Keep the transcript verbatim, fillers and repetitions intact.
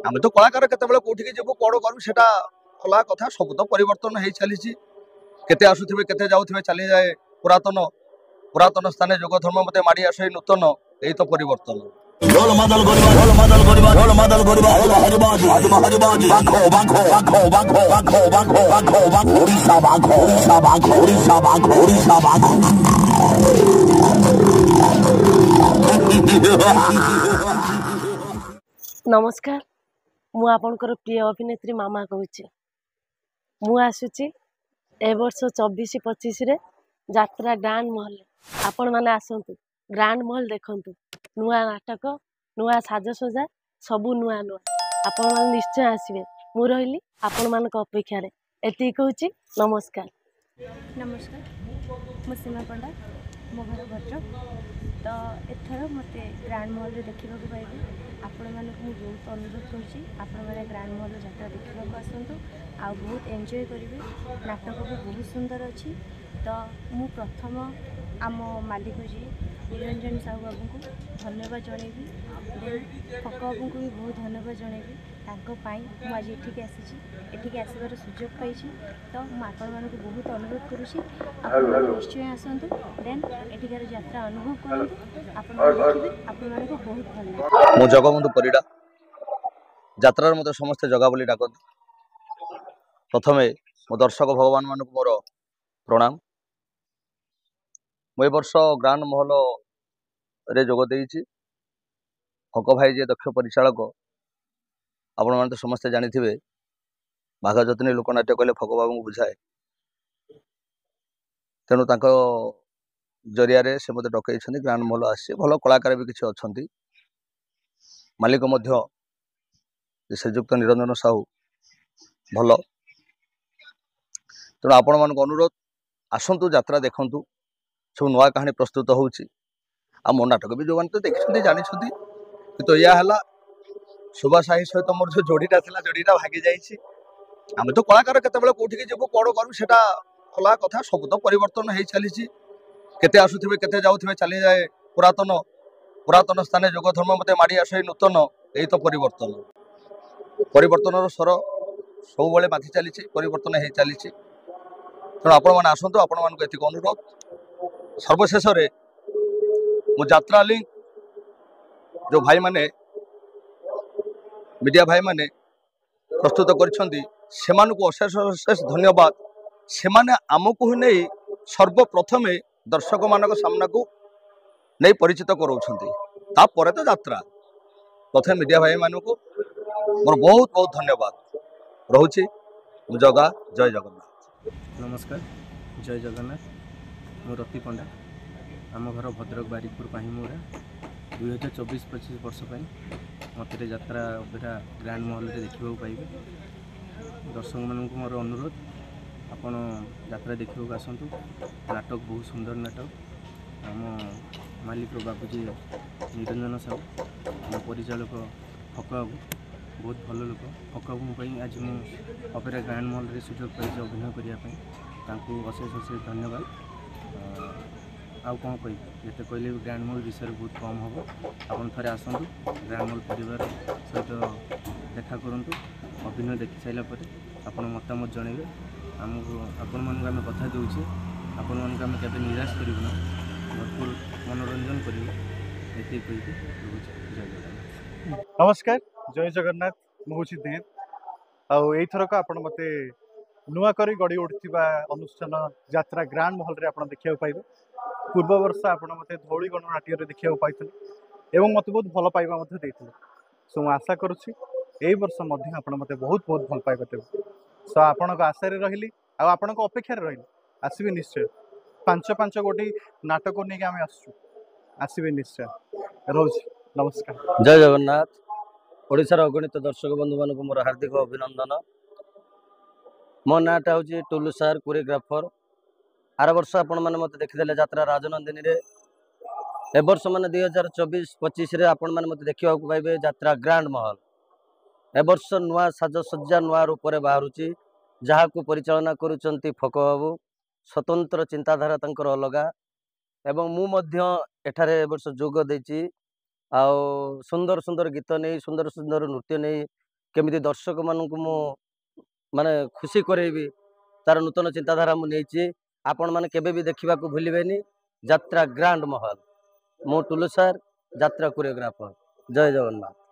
ଆମେ ତ କଳାକାର, କେତେବେଳେ କୋଉଠିକି ଯିବୁ, କ'ଣ କରିବୁ, ସେଟା ଅଲଗା କଥା। ସବୁ ତ ପରିବର୍ତ୍ତନ ହେଇ ଚାଲିଛି। କେତେ ଆସୁଥିବେ, କେତେ ଯାଉଥିବେ, ଚାଲିଯାଏ ପୁରାତନ। ପୁରାତନ ସ୍ଥାନେ ଯୁଗ ଧର୍ମ ମତେ ମାଡ଼ି ଆସେ ନୂତନ, ଏଇ ତ ପରିବର୍ତ୍ତନ। ଢୋଲ ମାଦଲ କରିବା, ଢୋଲ ମାଦଲ କରିବା, ଢୋଲ ମାଦଲ କରିବା, ହରିବାଜି ହରିବାଜି, ବାଘ ବାଘ ବାଘ ବାଘ ବାଘ ବାଘ ବାଘ ବାଘ, ଓଡ଼ିଶା ବାଘ, ଓଡ଼ିଶା ବାଘ, ଓଡ଼ିଶା ବାଘ, ଓଡ଼ିଶା ବାଘ। ନମସ୍କାର, ମୁଁ ଆପଣଙ୍କର ପ୍ରିୟ ଅଭିନେତ୍ରୀ ମାମା କହୁଛି। ମୁଁ ଆସୁଛି ଏ ବର୍ଷ ଚବିଶ ପଚିଶରେ ଯାତ୍ରା ଗ୍ରାଣ୍ଡ ମହଲ। ଆପଣମାନେ ଆସନ୍ତୁ, ଗ୍ରାଣ୍ଡ ମହଲ ଦେଖନ୍ତୁ। ନୂଆ ନାଟକ, ନୂଆ ସାଜସଜା, ସବୁ ନୂଆ ନୂଆ। ଆପଣମାନେ ନିଶ୍ଚୟ ଆସିବେ। ମୁଁ ରହିଲି ଆପଣମାନଙ୍କ ଅପେକ୍ଷାରେ, ଏତିକି କହୁଛି। ନମସ୍କାର। ନମସ୍କାର, ମୁଁ ସୀମା ପଣ୍ଡା, ମୋ ଘର ଭଦ୍ରକ। ତ ଏଥର ମୋତେ ଗ୍ରାଣ୍ଡ ମହଲରେ ଦେଖିବାକୁ ପାଇବେ। ଆପଣମାନଙ୍କୁ ମୁଁ ବହୁତ ଅନୁରୋଧ କରୁଛି, ଆପଣମାନେ ଗ୍ରାଣ୍ଡ ମହଲର ଯାତ୍ରା ଦେଖିବାକୁ ଆସନ୍ତୁ ଆଉ ବହୁତ ଏନ୍ଜୟ କରିବେ। ନାଟକ ବି ବହୁତ ସୁନ୍ଦର ଅଛି। ତ ମୁଁ ପ୍ରଥମ ଆମ ମାଲିକ ଯିଏ ନିରଞ୍ଜନ ସାହୁ ବାବୁଙ୍କୁ ଧନ୍ୟବାଦ ଜଣେଇବି, ଦେନ୍ ଫକ ବାବୁଙ୍କୁ ବି ବହୁତ ଧନ୍ୟବାଦ ଜଣେଇବି। ତାଙ୍କ ପାଇଁ ମୁଁ ଆଜି ଏଠିକି ଆସିଛି, ଏଠିକି ଆସିବାର ସୁଯୋଗ ପାଇଛି। ତ ମୁଁ ଆପଣମାନଙ୍କୁ ବହୁତ ଅନୁରୋଧ କରୁଛି, ଆପଣମାନେ ନିଶ୍ଚୟ ଆସନ୍ତୁ, ଦେନ୍ ଏଠିକାର ଯାତ୍ରା ଅନୁଭବ କରନ୍ତୁ। ଆପଣମାନେ ଦେଖିବେ, ଆପଣମାନଙ୍କୁ ବହୁତ ଭଲ ଲାଗିବ। ମୁଁ ଜଗବନ୍ଧୁ ପରିଡ଼ା। ଯାତ୍ରାରେ ମୋତେ ସମସ୍ତେ ଜଗା ବୋଲି ଡାକନ୍ତି। ପ୍ରଥମେ ମୋ ଦର୍ଶକ ଭଗବାନମାନଙ୍କୁ ମୋର ପ୍ରଣାମ। ମୁଁ ଏ ବର୍ଷ ଗ୍ରାଣ୍ଡ ମହଲରେ ଯୋଗ ଦେଇଛି। ଫକ ଭାଇ ଯିଏ ଦକ୍ଷ ପରିଚାଳକ, ଆପଣମାନେ ତ ସମସ୍ତେ ଜାଣିଥିବେ, ବାଘ ଯତ୍ନୀ ଲୋକନାଟ୍ୟ କହିଲେ ଫକ ବାବୁଙ୍କୁ ବୁଝାଏ। ତେଣୁ ତାଙ୍କ ଜରିଆରେ ସେ ମୋତେ ଡକେଇଛନ୍ତି। ଗ୍ରାଣ୍ଡ ମହଲ ଆସିଛି, ଭଲ କଳାକାର ବି କିଛି ଅଛନ୍ତି। ମାଲିକ ମଧ୍ୟ ଶ୍ରୀଯୁକ୍ତ ନିରଞ୍ଜନ ସାହୁ ଭଲ। ତେଣୁ ଆପଣମାନଙ୍କୁ ଅନୁରୋଧ, ଆସନ୍ତୁ, ଯାତ୍ରା ଦେଖନ୍ତୁ। ସବୁ ନୂଆ କାହାଣୀ ପ୍ରସ୍ତୁତ ହେଉଛି। ଆଉ ମୋ ନାଟକ ବି ଯେଉଁମାନେ ତ ଦେଖିଛନ୍ତି, ଜାଣିଛନ୍ତି। କିନ୍ତୁ ଏଇଆ ହେଲା, ସୁବାସ ସାହି ସହିତ ମୋର ଯେଉଁ ଯୋଡ଼ିଟା ଥିଲା, ଯୋଡ଼ିଟା ଭାଙ୍ଗି ଯାଇଛି। ଆମେ ତ କଳାକାର, କେତେବେଳେ କୋଉଠିକି ଯିବୁ, କ'ଣ କରିବୁ, ସେଟା ଅଲଗା କଥା। ସବୁ ତ ପରିବର୍ତ୍ତନ ହେଇ ଚାଲିଛି। କେତେ ଆସୁଥିବେ, କେତେ ଯାଉଥିବେ, ଚାଲିଯାଏ ପୁରାତନ। ପୁରାତନ ସ୍ଥାନେ ଯୁଗ ଧର୍ମ ମତେ ମାଡ଼ି ଆସେ ନୂତନ, ଏଇ ତ ପରିବର୍ତ୍ତନ। ପରିବର୍ତ୍ତନର ସ୍ୱର ସବୁବେଳେ ମାତି ଚାଲିଛି, ପରିବର୍ତ୍ତନ ହେଇ ଚାଲିଛି। ତେଣୁ ଆପଣମାନେ ଆସନ୍ତୁ, ଆପଣମାନଙ୍କୁ ଏତିକି ଅନୁରୋଧ। ସର୍ବଶେଷରେ ମୁଁ ଯାତ୍ରା ଲିଙ୍କ ଯେଉଁ ଭାଇମାନେ, ମିଡ଼ିଆ ଭାଇମାନେ ପ୍ରସ୍ତୁତ କରିଛନ୍ତି, ସେମାନଙ୍କୁ ଅଶେଷ ଅଶେଷ ଧନ୍ୟବାଦ। ସେମାନେ ଆମକୁ ହିଁ ନେଇ ସର୍ବପ୍ରଥମେ ଦର୍ଶକମାନଙ୍କ ସାମ୍ନାକୁ ନେଇ ପରିଚିତ କରାଉଛନ୍ତି, ତାପରେ ତ ଯାତ୍ରା। ପ୍ରଥମେ ମିଡ଼ିଆ ଭାଇମାନଙ୍କୁ ମୋର ବହୁତ ବହୁତ ଧନ୍ୟବାଦ ରହୁଛି। ମୁଁ ଜଗା, ଜୟ ଜଗନ୍ନାଥ। ନମସ୍କାର, ଜୟ ଜଗନ୍ନାଥ। ମୁଁ ରତି ପଣ୍ଡା, ଆମ ଘର ଭଦ୍ରକ ବାରିକପୁର ପାହିମୁରା। ଦୁଇ ହଜାର ଚବିଶ ପଚିଶ ବର୍ଷ ପାଇଁ ମୋତେ ଯାତ୍ରା ଅପେରା ଗ୍ରାଣ୍ଡ ମହଲରେ ଦେଖିବାକୁ ପାଇବେ। ଦର୍ଶକମାନଙ୍କୁ ମୋର ଅନୁରୋଧ, ଆପଣ ଯାତ୍ରା ଦେଖିବାକୁ ଆସନ୍ତୁ। ନାଟକ ବହୁତ ସୁନ୍ଦର ନାଟକ। ଆମ ମାଲିକ ବାବୁଜୀ ନିରଞ୍ଜନ ସାହୁ, ଆମ ପରିଚାଳକ ଫକ ବାବୁ ବହୁତ ଭଲ ଲୋକ। ଫକ ବାବୁଙ୍କ ପାଇଁ ଆଜି ମୁଁ ଅପେରା ଗ୍ରାଣ୍ଡ ମହଲରେ ସୁଯୋଗ ପାଇଛି ଅଭିନୟ କରିବା ପାଇଁ। ତାଙ୍କୁ ଅଶେଷ ଅଶେଷ ଧନ୍ୟବାଦ। ଆଉ କ'ଣ କହିବି, ଯେତେ କହିଲେ ବି ଗ୍ରାଣ୍ଡ ମହଲ ବିଷୟରେ ବହୁତ କମ୍ ହେବ। ଆପଣ ଥରେ ଆସନ୍ତୁ, ଗ୍ରାଣ୍ଡ ମହଲ ପରିବାର ସହିତ ଦେଖା କରନ୍ତୁ। ଅଭିନୟ ଦେଖି ସାରିଲା ପରେ ଆପଣ ମତାମତ ଜଣାଇବେ ଆମକୁ। ଆପଣମାନଙ୍କୁ ଆମେ କଥା ଦେଉଛେ, ଆପଣମାନଙ୍କୁ ଆମେ କେବେ ନିରାଶ କରିବୁ ନା, ଭରପୁର ମନୋରଞ୍ଜନ କରିବୁ। ଏତିକି କହିକି ରହୁଛି। ଜୟ ଜଗନ୍ନାଥ। ନମସ୍କାର, ଜୟ ଜଗନ୍ନାଥ। ମୁଁ ହେଉଛି ଦେବ, ଆଉ ଏଇଥରକ ଆପଣ ମୋତେ ନୂଆ କରି ଗଢ଼ି ଉଠୁଥିବା ଅନୁଷ୍ଠାନ ଯାତ୍ରା ଗ୍ରାଣ୍ଡ ମହଲରେ ଆପଣ ଦେଖିବାକୁ ପାଇବେ। ପୂର୍ବ ବର୍ଷ ଆପଣ ମୋତେ ଧଉଳି ଗଣନାଟ୍ୟରେ ଦେଖିବାକୁ ପାଇଥିଲେ ଏବଂ ମୋତେ ବହୁତ ଭଲ ପାଇବା ମଧ୍ୟ ଦେଇଥିଲେ। ସୋ ମୁଁ ଆଶା କରୁଛି ଏଇ ବର୍ଷ ମଧ୍ୟ ଆପଣ ମୋତେ ବହୁତ ବହୁତ ଭଲ ପାଇବା ଦେବେ। ସୋ ଆପଣଙ୍କ ଆଶାରେ ରହିଲି ଆଉ ଆପଣଙ୍କ ଅପେକ୍ଷାରେ ରହିଲି। ଆସିବେ ନିଶ୍ଚୟ। ପାଞ୍ଚ ପାଞ୍ଚ ଗୋଟି ନାଟକ ନେଇକି ଆମେ ଆସୁଛୁ, ଆସିବେ ନିଶ୍ଚୟ। ରହୁଛି, ନମସ୍କାର। ଜୟ ଜଗନ୍ନାଥ। ଓଡ଼ିଶାର ଅଗଣିତ ଦର୍ଶକ ବନ୍ଧୁମାନଙ୍କୁ ମୋର ହାର୍ଦ୍ଦିକ ଅଭିନନ୍ଦନ। ମୋ ନାଁଟା ହେଉଛି ଟୁଲୁ ସାର୍, କୋରିଓଗ୍ରାଫର। ଆର ବର୍ଷ ଆପଣମାନେ ମୋତେ ଦେଖିଦେଲେ ଯାତ୍ରା ରାଜନନ୍ଦିନୀରେ। ଏ ବର୍ଷ ମାନେ ଦୁଇ ହଜାର ଚବିଶ ପଚିଶରେ ଆପଣମାନେ ମୋତେ ଦେଖିବାକୁ ପାଇବେ ଯାତ୍ରା ଗ୍ରାଣ୍ଡ ମହଲ। ଏ ବର୍ଷ ନୂଆ ସାଜସଜ୍ଜା, ନୂଆ ରୂପରେ ବାହାରୁଛି, ଯାହାକୁ ପରିଚାଳନା କରୁଛନ୍ତି ଫକ ବାବୁ। ସ୍ୱତନ୍ତ୍ର ଚିନ୍ତାଧାରା ତାଙ୍କର ଅଲଗା, ଏବଂ ମୁଁ ମଧ୍ୟ ଏଠାରେ ଏ ବର୍ଷ ଯୋଗ ଦେଇଛି। ଆଉ ସୁନ୍ଦର ସୁନ୍ଦର ଗୀତ ନେଇ, ସୁନ୍ଦର ସୁନ୍ଦର ନୃତ୍ୟ ନେଇ କେମିତି ଦର୍ଶକମାନଙ୍କୁ ମୁଁ ମାନେ ଖୁସି କରେଇବି, ତାର ନୂତନ ଚିନ୍ତାଧାରା ମୁଁ ନେଇଛି। ଆପଣମାନେ କେବେ ବି ଦେଖିବାକୁ ଭୁଲିବେନି ଯାତ୍ରା ଗ୍ରାଣ୍ଡ ମହଲ। ମୁଁ ଟୁଲୁ ସାର୍, ଯାତ୍ରା କୋରିଓଗ୍ରାଫର। ଜୟ ଜଗନ୍ନାଥ।